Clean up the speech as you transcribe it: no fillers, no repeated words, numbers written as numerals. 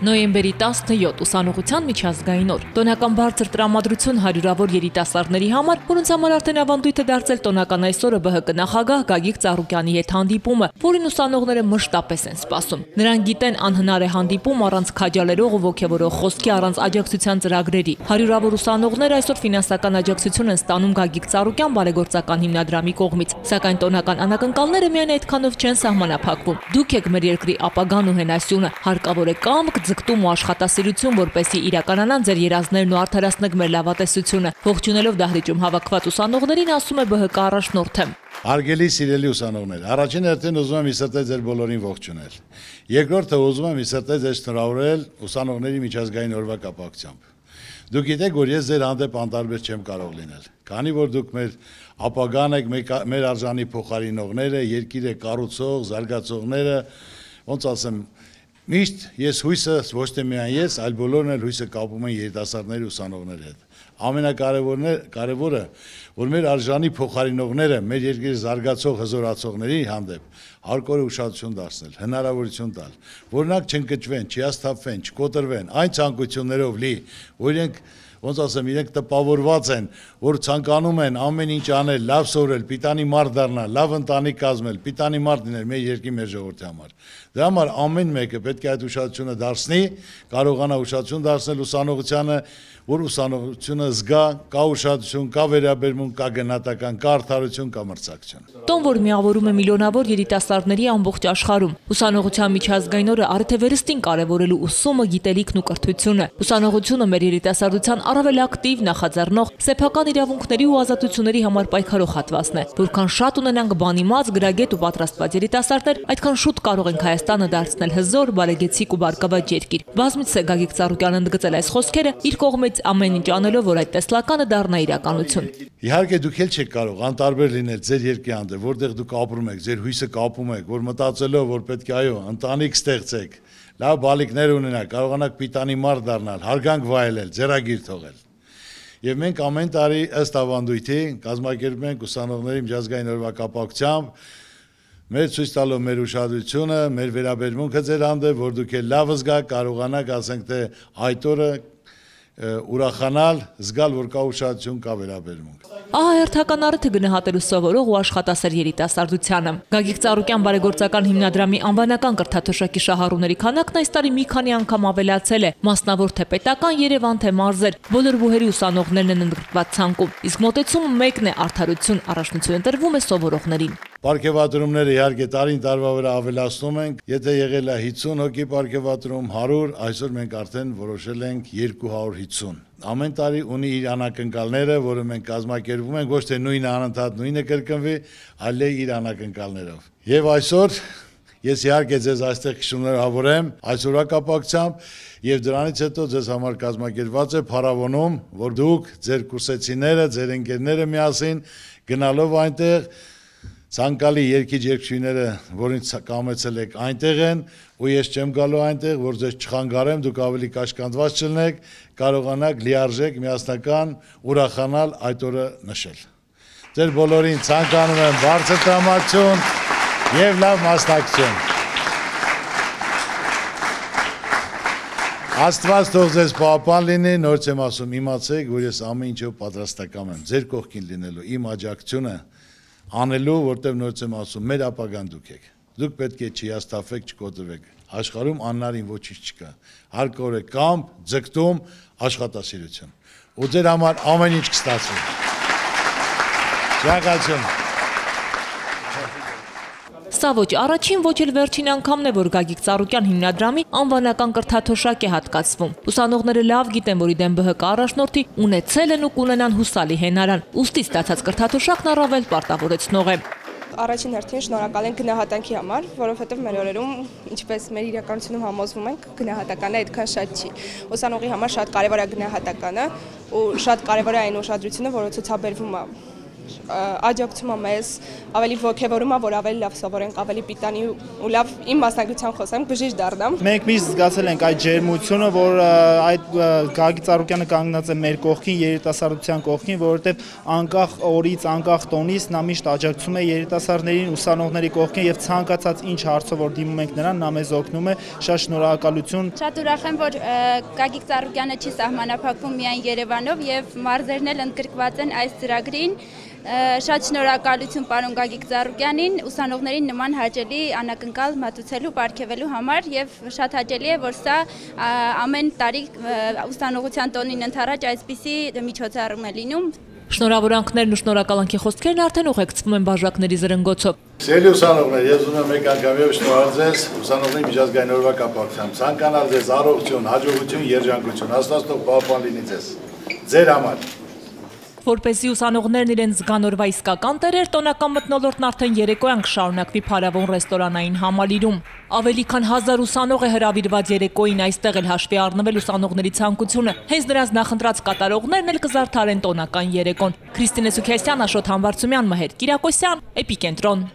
Նոյեմբերի 17 ուսանողության միջազգային օր։ Տոնական բարձր տրամադրություն հարյուրավոր երիտասարդների համար, որոնց համար արդեն ավանդույթ է դարձել տոնական այսօրը ԲՀԿ նախագահ Գագիկ Ծառուկյանի հետ հանդիպումը, որին ուսանողները մշտապես են սպասում։ Նրանք գիտեն անհնար է հանդիպում առանց քաջալերող ու ոգևորող խոսքի, առանց աջակցության ծրագրերի։ Հարյուրավոր ուսանողներ այսօր ֆինանսական աջակցություն են ստանում Գագիկ Ծառուկյան բարեգործական հիմնադրամի կողմից, սակայն տոնական անակնկալները միայն այդքանով չեն սահմանափակվում։ Դուք եք մեր երկրի ապագան ու հենասյունը, հարկավոր է կամք, ձգտում ու աշխատասիրություն, որպեսզի իրականանան ձեր երազներն ու արդարացնեք մեր լավատեսությունը։ Ողջունելով դահլիճում հավաքված ուսանողներին, ասում է ԲՀԿ առաջնորդը։ Հարգելի սիրելի ուսանողներ, առաջին հերթին ուզում եմ իսրտել ձեր բոլորին ողջունել։ Երկրորդը ուզում եմ իսրտել ձեզ շնորհավորել ուսանողների միջազգային օրվա կապակցությամբ։ Դուք գիտեք, որ ես ձեր հանդեպ անտարբեր չեմ կարող լինել, քանի որ դուք մեր ապագան եք, մեր արժանի փոխարինողները, երկիրը կառուցող, զարգացողները, ոնց ասեմ, միշտ ես հույսը ոչ թե միայն ես, այլ բոլորն էլ հույսը կապում են երիտասարդների ուսանողների հետ։ Ամենակարևորը, որ մեր արժանի փոխարինողները, մեր երկրի զարգացող հզորացողների հանդեպ հարկավոր ուշադրություն դարձնել, հնարավորություն տալ, որ նրանք չընկճվեն, չհիասթափվեն, չկոտրվեն, այն ցանկություններով լի, որ իրենք ոնց ասեմ, իրենք տպավորված են, որ ցանկանում են ամեն ինչ անել, լավ սովորել, պիտանի մարդ դառնալ, լավ ընտանիք կազմել, պիտանի մարդ լինել մեր երկրի, մեր ժողովրդի համար։ Դրա համար ամեն մեկը պետք է այդ ուշադրությունը դարձնի, կարողանա ուշադրություն դարձնել ուսանողությանը, որ ուսանողությունը զգա, կա ուշադրություն, կա վերաբերմունք, կա գնահատական, կա արդարություն, կա մրցակցություն։ Տոն, որ միավորում է միլիոնավոր երիտասարդների ամբողջ աշխարհում։ Ուսանողության միջազգային օրը արդեն վերստին կարևորելու ուսումը, գիտելիքն ու կրթությունը։ Ուսանողությունը մեր երիտասարդության առավել ակտիվ, նախաձեռնող, սեփական իրավունքների ու ազատությունների համար պայքարող հատվածն է։ Որքան շատ ունենանք բանիմաց, գրագետ ու պատրաստված երիտասարդներ, այդքան շուտ կարող ենք Հայաստանը դարձնել հզոր, բարեգեցիկ ու բարգավաճ երկիր։ Բազմիցս է Գագիկ Ծառուկյանը ընդգծել այս խոսքերը, իր կողմից ամեն ինչ անելով, որ այդ տեսլականը դառնա իրականություն։ Իհարկե դուք էլ չեք կարող անտարբեր լինել ձեր երկրի հանդեպ, որտեղ դուք ապրում եք, ձեր հույսը կապում եք, որ մտածելով, որ պետք է այո, ընտանիք ստեղծեք, լավ բալիկներ ունենաք, կարողանաք պիտանի մարդ դառնալ, հարգանք վայելել, ձեռագիր թողել։ Եվ մենք ամեն տարի ըստ ավանդույթի կազմակերպում ենք ուսանողների միջազգային օրվա կապակցությամբ մեր ցույց տալով մեր ուշադրությունը, մեր վերաբերմունքը ձեր հանդեպ, որ դուք էլ լավ զգաք, կարողանաք, ասենք թե այդ օրը ուրախանալ, զգալ, որ կա ուշադրություն, կա վերաբերմունք։ Ահա հերթական առիթը գնահատելու սովորող ու աշխատասեր երիտասարդությանը։ Գագիկ Ծառուկյան բարեգործական հիմնադրամի անվանական կրթաթոշակի շահառուների քանակն այս տարի մի քանի անգամ ավելացել է, մասնավոր թե պետական, Երևան թե մարզեր, բոլոր բուհերի ուսանողներն են ընդգրկված ցանկում, իսկ մոտեցումը մեկն է՝ արդարություն, առաջնություն տրվում է սովորողներին։ Պարգևատրումները իհարկե տարին տարվա վրա ավելացնում ենք, եթե եղել է 50 հոգի պարգևատրում, 100, այսօր մենք արդեն որոշել ենք 250։ Ամեն տարի ունի իր անակնկալները, որը մենք կազմակերպում ենք, ոչ թե նույնը անընդհատ նույնը կրկնվի, այլ իր անակնկալներով։ Եվ այսօր ես իհարկե ձեզ այստեղ շնորհավորեմ այսօրվա կապակցությամբ եւ դրանից հետո ձեզ համար կազմակերպված է փառավոնում, որ դուք ձեր կուրսեցիները, ձեր ընկերները միասին գնալով այնտեղ ցանկալի երգիչ-երգչուհիները, որոնց կամեցել եք, այնտեղ են, ու ես չեմ գալու այնտեղ, որ ձեզ չխանգարեմ, դուք ավելի կաշկանդված չլինեք, կարողանաք լիարժեք, միասնական ուրախանալ այդ օրը նշել։ Ձեր բոլորին ցանկանում եմ բարձր տրամադրություն եւ լավ մասնակցություն։ Աստված թող ձեզ պահապան լինի, նորից եմ ասում, իմացեք, որ ես ամեն ինչով պատրաստական եմ, ձեր կողքին լինելու, իմ աջակցությունը անելու, որտեղ նորից եմ ասում, մեր ապագան դուք եք։ Դուք պետք է չհիասթափվեք, չկոտրվեք։ Աշխարհում անհնարին ոչինչ չկա։ Հարկավոր է կամք, ձգտում, աշխատասիրություն։ Ու ձեր համար ամեն ինչ կստացվի։ Շնորհակալություն։ Սա ոչ առաջին, ոչ էլ վերջին անգամն է, որ Գագիկ Ծառուկյան հիմնադրամի անվանական կրթաթոշակ է հատկացվում։ Ուսանողները լավ գիտեն, որ իդեմ ԲՀԿ առաջնորդի ունեցել են ու կունենան հուսալի հենարան, ուստի ստացած կրթաթոշակն առավել պարտավորեցնող է։ Առաջին հերթին շնորհակալ ենք գնահատանքի համար, որովհետև մեր օրերում, ինչպես մեր իրականությունում համոզվում ենք, գնահատականը այդքան շատ չի։ Ուսանողի համար շատ կարևոր է գնահատականը ու շատ կարևոր է այն ուշադրությունը, որը ցուցաբերվում է աջակցում է մեզ, ավելի ոգևորում է, որ ավելի լավ սովորենք, ավելի պիտանի ու լավ իմ մասնագիտության խոսեմ, բժիշկ դառնամ։ Մենք միշտ զգացել ենք այդ ջերմությունը, որ այդ Գագիկ Ծառուկյանը կանգնած է մեր կողքին, երիտասարդության կողքին, որովհետև անկախ օրից, անկախ տոնից նա միշտ աջակցում է երիտասարդներին, ուսանողների կողքին եւ ցանկացած ինչ հարցով որ դիմում ենք նրան, նա մեզ օգնում է, շատ շնորհակալություն։ Շատ ուրախ եմ, որ Գագիկ Ծառուկյանը չի սահմանափակվում միայն Երևանով եւ մարզերն էլ ընդգրկված են այս ծրագրին։ Շատ շնորհակալություն պարոն Գագիկ Ծառուկյանին, ուսանողներին նման հաճելի անակնկալ մատուցելու, պարգևելու համար եւ շատ հաճելի է, որ սա ամեն տարի ուսանողության տոնին ընդառաջ այսպիսի միջոցառում է լինում։ Շնորհավորանքներն ու շնորհակալանքի խոսքերն արդեն ուղեկցվում են բաժակների զրնգոցով։ Սիրելի ուսանողներ, ես ուզում եմ մեկ անգամ եւ շնորհալ ձեզ ուսանողների միջազգային օրվա կապակցությամբ։ Ցանկանալ ձեզ առողջություն, հաջողություն, երջանկություն, Աստված թող պահպան լինի ձեզ։ Ձեր համար։ Որպեսզի ուսանողներն իրենց զգան օրվա իսկական տերեր, տոնական մթնոլորտն արդեն երեկոյան կշարունակվի փարավոն ռեստորանային համալիրում։ Ավելի քան 1000 ուսանող է հրավիրված երեկոյին, այստեղ էլ հաշվի առնվել ուսանողների ցանկությունը։ Հենց նրանց նախընտրած կատարողներն էլ կզարդարեն տոնական երեկոն։ Քրիստինե Սուքիասյան, Աշոտ Համբարձումյան, Մհեր Կիրակոսյան, Էպիկենտրոն։